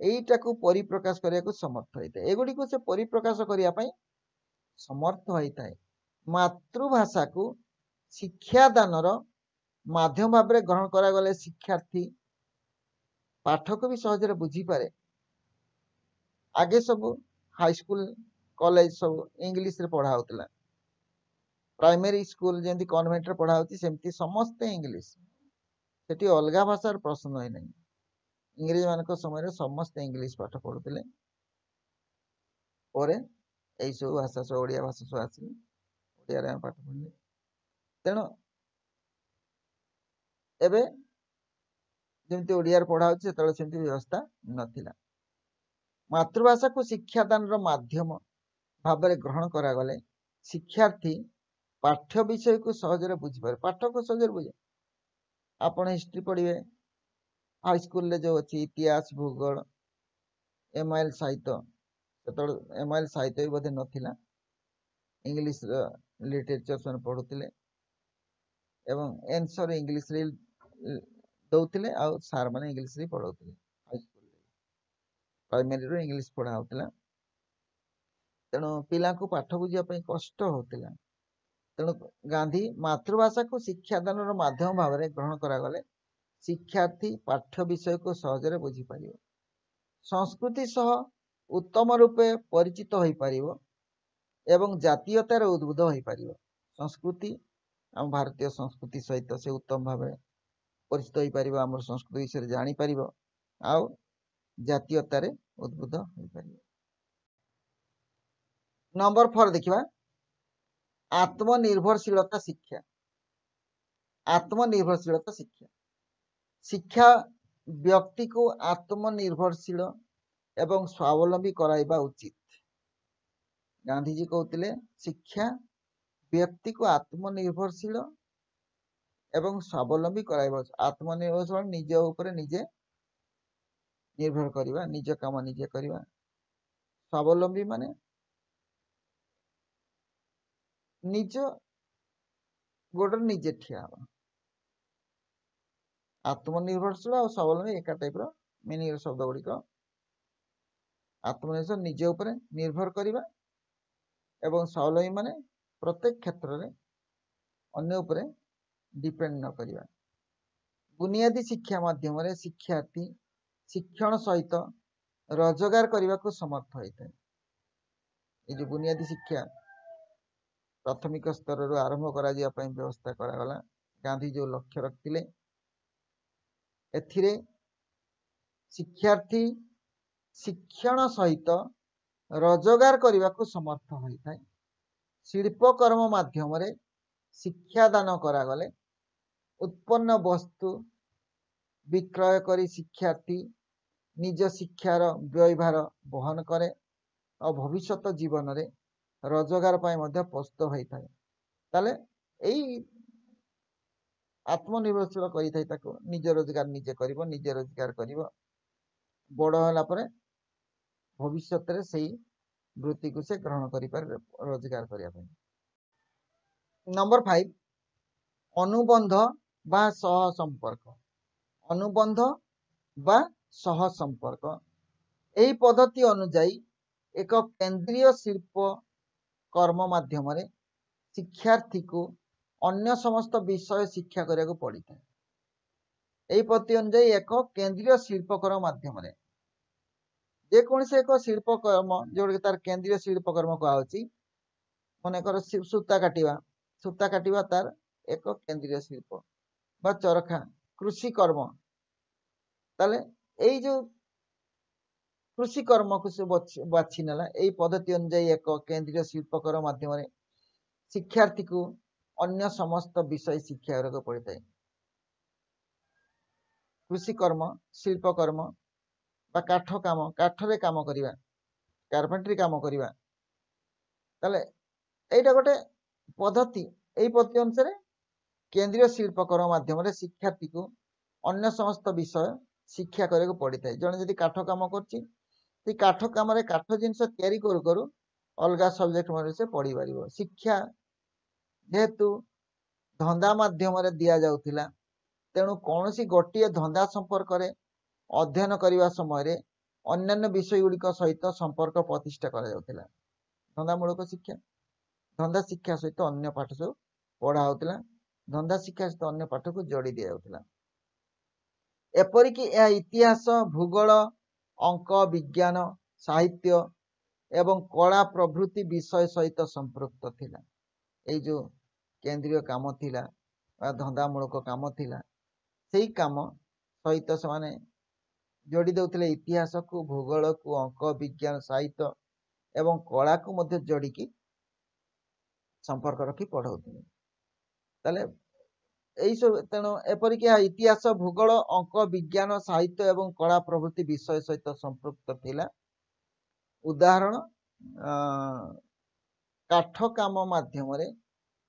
[SPEAKER 1] ଏଇଟାକୁ ପରିପ୍ରକାଶ କରିବାକୁ ସମର୍ଥ ହୋଇଥାଏ। ଏଗୁଡ଼ିକୁ ସେ ପରିପ୍ରକାଶ କରିବା ପାଇଁ ସମର୍ଥ ହୋଇଥାଏ। ମାତୃଭାଷାକୁ ଶିକ୍ଷାଦାନର ମାଧ୍ୟମ ଭାବରେ ଗ୍ରହଣ କରାଗଲେ ଶିକ୍ଷାର୍ଥୀ ପାଠକୁ ବି ସହଜରେ ବୁଝିପାରେ। ଆଗେ ସବୁ ହାଇସ୍କୁଲ, କଲେଜ ସବୁ ଇଂଲିଶରେ ପଢା ହଉଥିଲା। ପ୍ରାଇମେରୀ ସ୍କୁଲ ଯେମିତି କନଭେଣ୍ଟରେ ପଢା ହଉଛି, ସେମିତି ସମସ୍ତେ ଇଂଲିଶ। ସେଠି ଅଲଗା ଭାଷାର ପ୍ରଶ୍ନ ହିଁ ନାହିଁ। ଇଂରେଜ ମାନଙ୍କ ସମୟରେ ସମସ୍ତେ ଇଂଲିଶ ପାଠ ପଢୁଥିଲେ। ପରେ ଏଇ ସବୁ ଭାଷା ସବୁ, ଓଡ଼ିଆ ଭାଷା ସବୁ ଆସିଲେ, ଓଡ଼ିଆରେ ଆମେ ପାଠ ପଢିଲେ। ତେଣୁ ଏବେ ଯେମିତି ଓଡ଼ିଆରେ ପଢା ହଉଛି, ସେତେବେଳେ ସେମିତି ବ୍ୟବସ୍ଥା ନଥିଲା। ମାତୃଭାଷାକୁ ଶିକ୍ଷାଦାନର ମାଧ୍ୟମ ଭାବରେ ଗ୍ରହଣ କରାଗଲେ ଶିକ୍ଷାର୍ଥୀ ପାଠ୍ୟ ବିଷୟକୁ ସହଜରେ ବୁଝିପାରେ। ପାଠକୁ ସହଜରେ ବୁଝେ। ଆପଣ ହିଷ୍ଟ୍ରି ପଢିବେ ହାଇସ୍କୁଲରେ, ଯୋଉ ଅଛି ଇତିହାସ, ଭୂଗୋଳ, ଏମଆଇଏଲ ସାହିତ୍ୟ। ସେତେବେଳେ ଏମଆଇଏଲ ସାହିତ୍ୟ ବି ବୋଧେ ନଥିଲା। ଇଂଲିଶର ଲିଟରେଚର ସେମାନେ ପଢୁଥିଲେ ଏବଂ ଏନ୍ସର ଇଂଲିଶରେ ଦଉଥିଲେ ଆଉ ସାର୍ ମାନେ ଇଂଲିଶରେ ପଢଉଥିଲେ। ହାଇସ୍କୁଲରେ ପ୍ରାଇମେରୀରୁ ଇଂଲିଶ ପଢା ହଉଥିଲା। ତେଣୁ ପିଲାଙ୍କୁ ପାଠ ବୁଝିବା ପାଇଁ କଷ୍ଟ ହେଉଥିଲା। ତେଣୁ ଗାନ୍ଧୀ ମାତୃଭାଷାକୁ ଶିକ୍ଷାଦାନର ମାଧ୍ୟମ ଭାବରେ ଗ୍ରହଣ କରାଗଲେ ଶିକ୍ଷାର୍ଥୀ ପାଠ୍ୟ ବିଷୟକୁ ସହଜରେ ବୁଝିପାରିବ, ସଂସ୍କୃତି ସହ ଉତ୍ତମ ରୂପେ ପରିଚିତ ହୋଇପାରିବ ଏବଂ ଜାତୀୟତାରେ ଉଦ୍ବୁଦ୍ଧ ହୋଇପାରିବ। ସଂସ୍କୃତି, ଆମ ଭାରତୀୟ ସଂସ୍କୃତି ସହିତ ସେ ଉତ୍ତମ ଭାବରେ ପରିଚିତ ହୋଇପାରିବ, ଆମର ସଂସ୍କୃତି ବିଷୟରେ ଜାଣିପାରିବ ଆଉ ଜାତୀୟତାରେ ଉଦ୍ବୁଦ୍ଧ ହୋଇପାରିବ। ନମ୍ବର ଫୋର ଦେଖିବା, ଆତ୍ମନିର୍ଭରଶୀଳତା ଶିକ୍ଷା। ଆତ୍ମନିର୍ଭରଶୀଳତା ଶିକ୍ଷା, ଶିକ୍ଷା ବ୍ୟକ୍ତିକୁ ଆତ୍ମନିର୍ଭରଶୀଳ ଏବଂ ସ୍ୱାବଲମ୍ବୀ କରାଇବା ଉଚିତ। ଗାନ୍ଧିଜୀ କହୁଥିଲେ ଶିକ୍ଷା ବ୍ୟକ୍ତିକୁ ଆତ୍ମନିର୍ଭରଶୀଳ ଏବଂ ସ୍ୱାବଲମ୍ବୀ କରାଇବା। ଆତ୍ମନିର୍ଭରଶୀଳ, ନିଜ ଉପରେ ନିଜେ ନିର୍ଭର କରିବା, ନିଜ କାମ ନିଜେ କରିବା। ସ୍ୱାବଲମ୍ବୀ ମାନେ ନିଜ ଗୋଡ଼ରେ ନିଜେ ଠିଆ ହେବା। ଆତ୍ମନିର୍ଭରଶୀଳ ଆଉ ସ୍ୱାବଲମ୍ବୀ ଏକା ଟାଇପର ମିନିଂ ଶବ୍ଦ ଗୁଡ଼ିକ। ଆତ୍ମନିର୍ଭର, ନିଜ ଉପରେ ନିର୍ଭର କରିବା ଏବଂ ସ୍ୱାବଲମ୍ବୀ ମାନେ ପ୍ରତ୍ୟେକ କ୍ଷେତ୍ରରେ ଅନ୍ୟ ଉପରେ ଡିପେଣ୍ଡ ନ କରିବା। ବୁନିଆଦୀ ଶିକ୍ଷା ମାଧ୍ୟମରେ ଶିକ୍ଷାର୍ଥୀ ଶିକ୍ଷଣ ସହିତ ରୋଜଗାର କରିବାକୁ ସମର୍ଥ ହୋଇଥାଏ। ଏଇ ଯୋଉ ବୁନିଆଦୀ ଶିକ୍ଷା ପ୍ରାଥମିକ ସ୍ତରରୁ ଆରମ୍ଭ କରାଯିବା ପାଇଁ ବ୍ୟବସ୍ଥା କରାଗଲା, ଗାନ୍ଧୀ ଯୋଉ ଲକ୍ଷ୍ୟ ରଖିଥିଲେ, ଏଥିରେ ଶିକ୍ଷାର୍ଥୀ ଶିକ୍ଷଣ ସହିତ ରୋଜଗାର କରିବାକୁ ସମର୍ଥ ହୋଇଥାଏ। ଶିଳ୍ପକର୍ମ ମାଧ୍ୟମରେ ଶିକ୍ଷାଦାନ କରାଗଲେ ଉତ୍ପନ୍ନ ବସ୍ତୁ ବିକ୍ରୟ କରି ଶିକ୍ଷାର୍ଥୀ ନିଜ ଶିକ୍ଷାର ବ୍ୟୟଭାର ବହନ କରେ ଆଉ ଭବିଷ୍ୟତ ଜୀବନରେ ରୋଜଗାର ପାଇଁ ମଧ୍ୟ ପ୍ରସ୍ତୁତ ହୋଇଥାଏ। ତାହେଲେ ଏଇ ଆତ୍ମନିର୍ଭରଶୀଳ କରିଥାଏ ତାକୁ, ନିଜ ରୋଜଗାର ନିଜେ କରିବ, ନିଜେ ରୋଜଗାର କରିବ, ବଡ଼ ହେଲା ପରେ ଭବିଷ୍ୟତରେ ସେଇ ବୃତ୍ତିକୁ ସେ ଗ୍ରହଣ କରିପାରେ ରୋଜଗାର କରିବା ପାଇଁ। ନମ୍ବର ଫାଇଭ, ଅନୁବନ୍ଧ ବା ସହ ସମ୍ପର୍କ। ଅନୁବନ୍ଧ ବା ସହ ସମ୍ପର୍କ, ଏହି ପଦ୍ଧତି ଅନୁଯାୟୀ ଏକ କେନ୍ଦ୍ରୀୟ ଶିଳ୍ପ କର୍ମ ମାଧ୍ୟମରେ ଶିକ୍ଷାର୍ଥୀକୁ ଅନ୍ୟ ସମସ୍ତ ବିଷୟ ଶିକ୍ଷା କରିବାକୁ ପଡ଼ିଥାଏ। ଏହି ପଦ୍ଧତି ଅନୁଯାୟୀ ଏକ କେନ୍ଦ୍ରୀୟ ଶିଳ୍ପକର୍ମ ମାଧ୍ୟମରେ ଯେକୌଣସି ଏକ ଶିଳ୍ପକର୍ମ, ଯୋଉଟାକି ତାର କେନ୍ଦ୍ରୀୟ ଶିଳ୍ପକର୍ମ କୁହାହଉଛି, ମନେକର ସୂତା କାଟିବା, ସୂତା କାଟିବା ତାର ଏକ କେନ୍ଦ୍ରୀୟ ଶିଳ୍ପ, ବା ଚରଖା, କୃଷି କର୍ମ। ତାହେଲେ ଏଇ ଯୋଉ କୃଷି କର୍ମକୁ ସେ ବାଛି ନେଲା, ଏଇ ପଦ୍ଧତି ଅନୁଯାୟୀ ଏକ କେନ୍ଦ୍ରୀୟ ଶିଳ୍ପକର୍ମ ମାଧ୍ୟମରେ ଶିକ୍ଷାର୍ଥୀକୁ ଅନ୍ୟ ସମସ୍ତ ବିଷୟ ଶିକ୍ଷା କରିବାକୁ ପଡ଼ିଥାଏ। କୃଷି କର୍ମ, ଶିଳ୍ପକର୍ମ ବା କାଠ କାମ, କାଠରେ କାମ କରିବା, କାର୍ପେଣ୍ଟ୍ରି କାମ କରିବା। ତାହେଲେ ଏଇଟା ଗୋଟେ ପଦ୍ଧତି। ଏଇ ପଦ୍ଧତି ଅନୁସାରେ କେନ୍ଦ୍ରୀୟ ଶିଳ୍ପକର୍ମ ମାଧ୍ୟମରେ ଶିକ୍ଷାର୍ଥୀକୁ ଅନ୍ୟ ସମସ୍ତ ବିଷୟ ଶିକ୍ଷା କରିବାକୁ ପଡ଼ିଥାଏ। ଜଣେ ଯଦି କାଠ କାମ କରୁଛି, ସେଇ କାଠ କାମରେ କାଠ ଜିନିଷ ତିଆରି କରୁ କରୁ ଅଲଗା ସବଜେକ୍ଟ ମଧ୍ୟ ସେ ପଢ଼ିପାରିବ। ଶିକ୍ଷା ଯେହେତୁ ଧନ୍ଦା ମାଧ୍ୟମରେ ଦିଆଯାଉଥିଲା, ତେଣୁ କୌଣସି ଗୋଟିଏ ଧନ୍ଦା ସମ୍ପର୍କରେ ଅଧ୍ୟୟନ କରିବା ସମୟରେ ଅନ୍ୟାନ୍ୟ ବିଷୟ ଗୁଡ଼ିକ ସହିତ ସମ୍ପର୍କ ପ୍ରତିଷ୍ଠା କରାଯାଉଥିଲା। ଧନ୍ଦାମୂଳକ ଶିକ୍ଷା, ଧନ୍ଦା ଶିକ୍ଷା ସହିତ ଅନ୍ୟ ପାଠ ସବୁ ପଢ଼ା ହେଉଥିଲା, ଧନ୍ଦା ଶିକ୍ଷା ସହିତ ଅନ୍ୟ ପାଠକୁ ଯୋଡ଼ି ଦିଆଯାଉଥିଲା। ଏପରିକି ଏହା ଇତିହାସ, ଭୂଗୋଳ, ଅଙ୍କ, ବିଜ୍ଞାନ, ସାହିତ୍ୟ ଏବଂ କଳା ପ୍ରଭୃତି ବିଷୟ ସହିତ ସମ୍ପୃକ୍ତ ଥିଲା। ଏଇ ଯୋଉ କେନ୍ଦ୍ରୀୟ କାମ ଥିଲା ବା ଧନ୍ଦାମୂଳକ କାମ ଥିଲା, ସେଇ କାମ ସହିତ ସେମାନେ ଯୋଡ଼ି ଦେଉଥିଲେ ଇତିହାସକୁ, ଭୂଗୋଳକୁ, ଅଙ୍କ, ବିଜ୍ଞାନ, ସାହିତ୍ୟ ଏବଂ କଳାକୁ ମଧ୍ୟ ଯୋଡ଼ିକି ସମ୍ପର୍କ ରଖି ପଢ଼ଉଥିଲେ। ତାହେଲେ ଏଇସବୁ, ତେଣୁ ଏପରିକି ଏହା ଇତିହାସ, ଭୂଗୋଳ, ଅଙ୍କ, ବିଜ୍ଞାନ, ସାହିତ୍ୟ ଏବଂ କଳା ପ୍ରଭୃତି ବିଷୟ ସହିତ ସମ୍ପୃକ୍ତ ଥିଲା। ଉଦାହରଣ, କାଠ କାମ ମାଧ୍ୟମରେ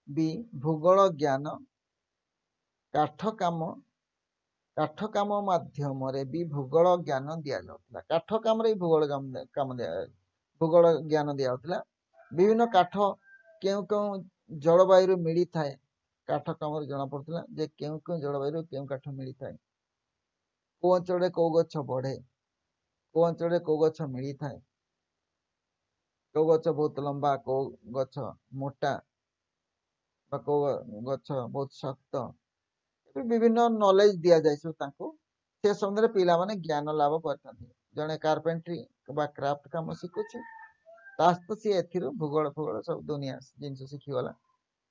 [SPEAKER 1] ବି ଭୂଗୋଳ ଜ୍ଞାନ, କାଠ କାମ କାଠ କାମ ମାଧ୍ୟମରେ ବି ଭୂଗୋଳ ଜ୍ଞାନ ଦିଆଯାଉଥିଲା। କାଠ କାମରେ ବି ଭୂଗୋଳ କାମ ଦିଆ ଭୂଗୋଳ ଜ୍ଞାନ ଦିଆଯାଉଥିଲା। ବିଭିନ୍ନ କାଠ କେଉଁ କେଉଁ ଜଳବାୟୁରୁ ମିଳିଥାଏ, କାଠ କାମରେ ଜଣାପଡ଼ୁଥିଲା ଯେ କେଉଁ କେଉଁ ଜଳବାୟୁରୁ କେଉଁ କାଠ ମିଳିଥାଏ, କେଉଁ ଅଞ୍ଚଳରେ କେଉଁ ଗଛ ବଢ଼େ, କେଉଁ ଅଞ୍ଚଳରେ କେଉଁ ଗଛ ମିଳିଥାଏ। କେଉଁ ଗଛ ବହୁତ ଲମ୍ବା, କେଉଁ ଗଛ ମୋଟା ବା କେଉଁ ଗଛ ବହୁତ ଶକ୍ତ, ବିଭିନ୍ନ ନଲେଜ ଦିଆଯାଏ ସବୁ ତାଙ୍କୁ। ସେ ସମ୍ବନ୍ଧରେ ପିଲାମାନେ ଜ୍ଞାନ ଲାଭ କରିଥାନ୍ତି। ଜଣେ କାର୍ପେଣ୍ଟ୍ରି ବା କ୍ରାଫ୍ଟ କାମ ଶିଖୁଛି, ତା ସହିତ ସିଏ ଏଥିରୁ ଭୂଗୋଳ ଫୁଗୋଳ ସବୁ ଦୁନିଆ ଜିନିଷ ଶିଖିଗଲା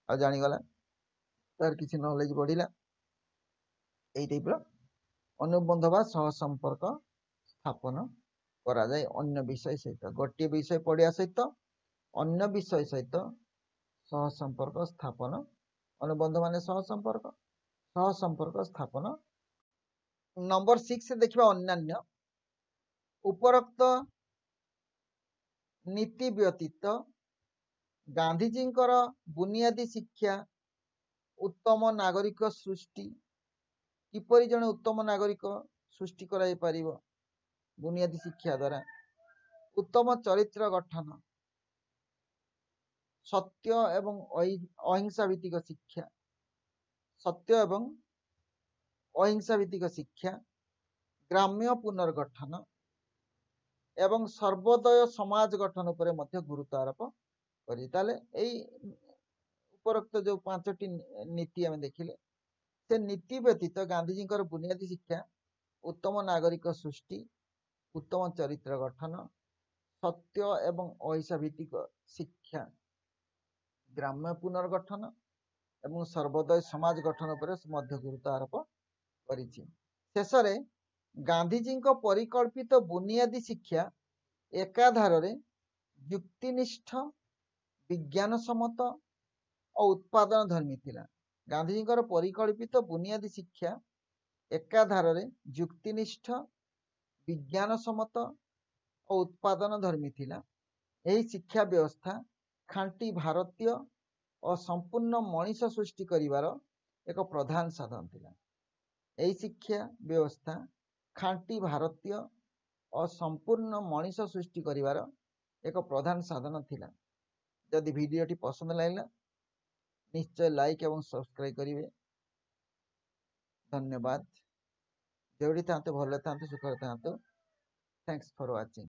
[SPEAKER 1] ଆଉ ଜାଣିଗଲା, ତାର କିଛି ନଲେଜ ବଢିଲା। ଏଇ ଟାଇପର ଅନୁବନ୍ଧ ବା ସହ ସମ୍ପର୍କ ସ୍ଥାପନ କରାଯାଏ ଅନ୍ୟ ବିଷୟ ସହିତ। ଗୋଟିଏ ବିଷୟ ପଢିବା ସହିତ ଅନ୍ୟ ବିଷୟ ସହିତ ସହ ସମ୍ପର୍କ ସ୍ଥାପନ, ଅନୁବନ୍ଧ ମାନେ ସହ ସମ୍ପର୍କ, ସହ ସମ୍ପର୍କ ସ୍ଥାପନ। ନମ୍ବର ସିକ୍ସ ଦେଖିବା ଅନ୍ୟାନ୍ୟ। ଉପରୋକ୍ତ ନୀତି ବ୍ୟତୀତ ଗାନ୍ଧିଜୀଙ୍କର ବୁନିୟାଦୀ ଶିକ୍ଷା ଉତ୍ତମ ନାଗରିକ ସୃଷ୍ଟି, କିପରି ଜଣେ ଉତ୍ତମ ନାଗରିକ ସୃଷ୍ଟି କରାଯାଇପାରିବ ବୁନିୟାଦୀ ଶିକ୍ଷା ଦ୍ୱାରା, ଉତ୍ତମ ଚରିତ୍ର ଗଠନ, ସତ୍ୟ ଏବଂ ଅହିଂସା ଭିତ୍ତିକ ଶିକ୍ଷା, ସତ୍ୟ ଏବଂ ଅହିଂସା ଭିତ୍ତିକ ଶିକ୍ଷା, ଗ୍ରାମ୍ୟ ପୁନର୍ଗଠନ ଏବଂ ସର୍ବୋଦୟ ସମାଜ ଗଠନ ଉପରେ ମଧ୍ୟ ଗୁରୁତ୍ୱ ଆରୋପ କରି। ତାହେଲେ ଏଇ ଉପରୋକ୍ତ ଯୋଉ ପାଞ୍ଚଟି ନୀତି ଆମେ ଦେଖିଲେ, ସେ ନୀତି ବ୍ୟତୀତ ଗାନ୍ଧିଜୀଙ୍କର ବୁନିୟାଦୀ ଶିକ୍ଷା ଉତ୍ତମ ନାଗରିକ ସୃଷ୍ଟି, ଉତ୍ତମ ଚରିତ୍ର ଗଠନ, ସତ୍ୟ ଏବଂ ଅହିଂସା ଭିତ୍ତିକ ଶିକ୍ଷା, ଗ୍ରାମ୍ୟ ପୁନର୍ଗଠନ ଏବଂ ସର୍ବୋଦୟ ସମାଜ ଗଠନ ଉପରେ ମଧ୍ୟ ଗୁରୁତ୍ୱ ଆରୋପ କରିଛି। ଶେଷରେ ଗାନ୍ଧିଜୀଙ୍କ ପରିକଳ୍ପିତ ବୁନିୟାଦୀ ଶିକ୍ଷା ଏକାଧାରରେ ଯୁକ୍ତିନିଷ୍ଠ, ବିଜ୍ଞାନସମ୍ମତ ଓ ଉତ୍ପାଦନ ଧର୍ମୀ ଥିଲା। ଗାନ୍ଧିଜୀଙ୍କର ପରିକଳ୍ପିତ ବୁନିୟାଦୀ ଶିକ୍ଷା ଏକାଧାରରେ ଯୁକ୍ତିନିଷ୍ଠ, ବିଜ୍ଞାନସମ୍ମତ ଓ ଉତ୍ପାଦନ ଧର୍ମୀ ଥିଲା। ଏହି ଶିକ୍ଷା ବ୍ୟବସ୍ଥା ଖାଣ୍ଟି ଭାରତୀୟ ଓ ସମ୍ପୂର୍ଣ୍ଣ ମଣିଷ ସୃଷ୍ଟି କରିବାର ଏକ ପ୍ରଧାନ ସାଧନ ଥିଲା। ଏହି ଶିକ୍ଷା ବ୍ୟବସ୍ଥା ଖାଣ୍ଟି ଭାରତୀୟ ଓ ସମ୍ପୂର୍ଣ୍ଣ ମଣିଷ ସୃଷ୍ଟି କରିବାର ଏକ ପ୍ରଧାନ ସାଧନ ଥିଲା। ଯଦି ଭିଡ଼ିଓଟି ପସନ୍ଦ ଲାଗିଲା, ନିଶ୍ଚୟ ଲାଇକ୍ ଏବଂ ସବସ୍କ୍ରାଇବ କରିବେ। ଧନ୍ୟବାଦ। ଯେଉଁଠି ଥାଆନ୍ତୁ, ଭଲରେ ଥାଆନ୍ତୁ, ସୁଖରେ ଥାଆନ୍ତୁ। Thanks for watching.